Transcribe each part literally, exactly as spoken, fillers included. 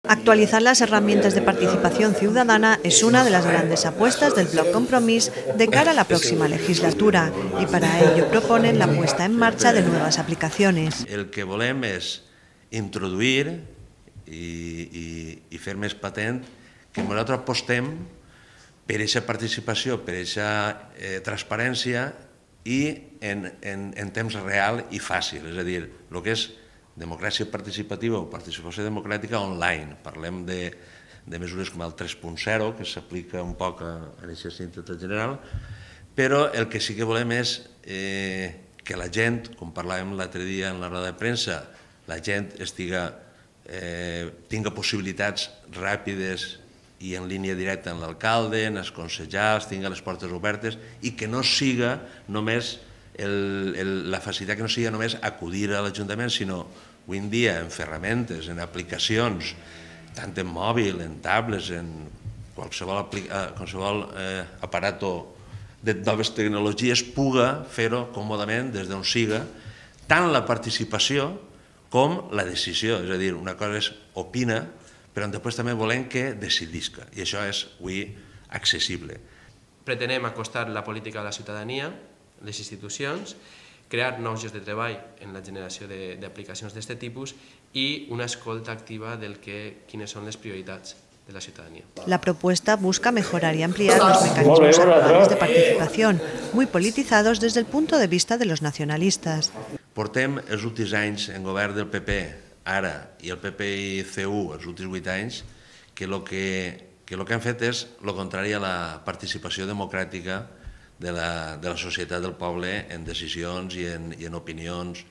Actualizar las herramientas de participación ciudadana es una de las grandes apuestas del Bloc Compromís de cara a la próxima legislatura y para ello proponen la puesta en marcha de nuevas aplicaciones. El que volem és introduir i, i, i fer més patent que nosaltres apostem per aquesta participació, per aquesta eh, transparència i en, en, en temps real i fàcil, és a dir, el que és democràcia participativa o participació democràtica online. Parlem de, de mesures com el tres punt zero, que s'aplica un poc a, a aquesta síntesis general, però el que sí que volem és eh, que la gent, com parlàvem l'altre dia en la roda de premsa, la gent estiga, eh, tinga possibilitats ràpides i en línia directa amb l'alcalde, en els consellers, tinga les portes obertes i que no siga només El, el, la facilitat que no sigui només acudir a l'Ajuntament, sinó avui en dia en ferramentes, en aplicacions, tant en mòbil, en tablets, en qualsevol, qualsevol eh, aparato de noves tecnologies, puga fer-ho còmodament des d'on siga, tant la participació com la decisió. És a dir, una cosa és opina, però després també volem que decidisca, i això és avui accessible. Pretenem acostar la política a la ciutadania, les institucions, crear nous llocs de treball en la generació d'aplicacions d'aquest tipus i una escolta activa del que, quines són les prioritats de la ciudadanía. La propuesta busca mejorar y ampliar los mecanismos actuales de participación, muy politizados desde el punto de vista de los nacionalistas. Portem els últims anys en govern del P P, ara, i el P P i C U els últims vuit anys, que el que, que, lo que han fet és el contrari a la participació democràtica de la, de la societat del poble en decisions i en, i en opinions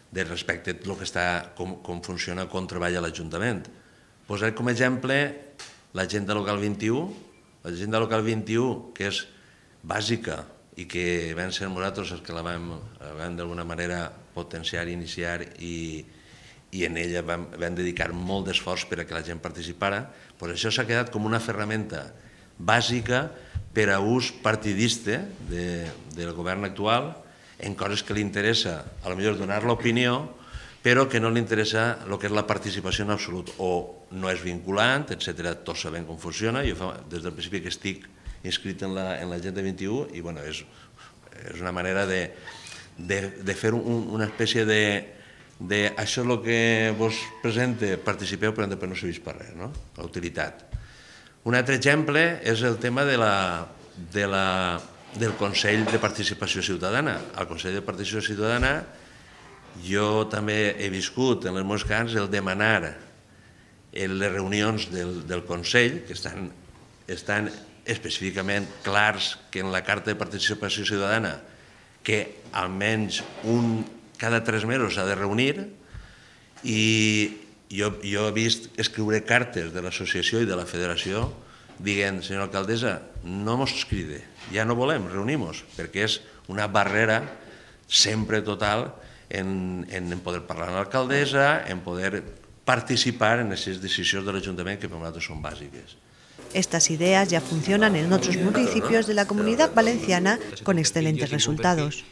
de respecte a lo que està, com, com funciona, com treballa l'Ajuntament. Posaré com a exemple l'agenda local vint-i-u, l'agenda local vint-i-u, que és bàsica i que vam ser nosaltres els que la vam, vam d'alguna manera potenciar, iniciar i, i en ella vam, vam dedicar molt d'esforç per a que la gent participara, doncs això s'ha quedat com una ferramenta bàsica per a ús partidista de, del govern actual en coses que li interessa, a lo millor donar l'opinió, però que no li interessa el que és la participació en absolut, o no és vinculant, etcètera. Tots sabem com funciona. Jo fa, des del principi que estic inscrit en l'agenda vint-i-u i bueno, és, és una manera de, de, de fer un, una espècie de, de això és el que vos presenta, participeu, però després no serveix per res, no? La utilitat. Un altre exemple és el tema de la, de la, del Consell de Participació Ciutadana. Al Consell de Participació Ciutadana jo també he viscut en els meus camps el demanar en les reunions del, del Consell, que estan, estan específicament clars que en la Carta de Participació Ciutadana que almenys un cada tres mesos s'ha de reunir, i Jo, jo he vist escriure cartes de l'associació i de la federació dient, senyora alcaldessa, no mos cride, ja no volem, reunim-nos, perquè és una barrera sempre total en, en poder parlar amb l'alcaldessa, en poder participar en aquestes decisions de l'Ajuntament que per nosaltres són bàsiques. Estas ideas ya funcionan en otros municipios de la Comunidad Valenciana con excelentes resultados.